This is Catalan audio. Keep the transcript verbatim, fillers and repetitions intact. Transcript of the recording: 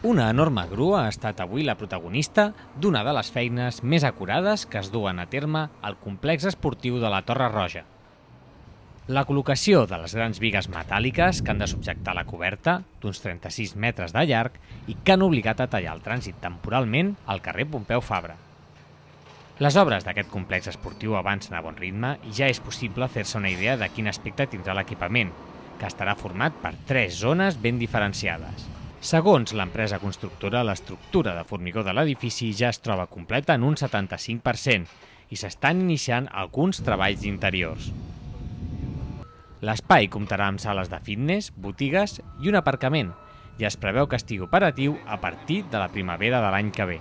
Una enorme grua ha estat avui la protagonista d'una de les feines més acurades que es duen a terme al complex esportiu de la Torre Roja. La col·locació de les grans bigues metàl·liques que han de subjectar la coberta, d'uns trenta-sis metres de llarg, i que han obligat a tallar el trànsit temporalment al carrer Pompeu Fabra. Les obres d'aquest complex esportiu avancen a bon ritme i ja és possible fer-se una idea de quin aspecte tindrà l'equipament, que estarà format per tres zones ben diferenciades. Segons l'empresa constructora, l'estructura de formigó de l'edifici ja es troba completa en un setanta-cinc per cent i s'estan iniciant alguns treballs interiors. L'espai comptarà amb sales de fitness, botigues i un aparcament i es preveu que estigui operatiu a partir de la primavera de l'any que ve.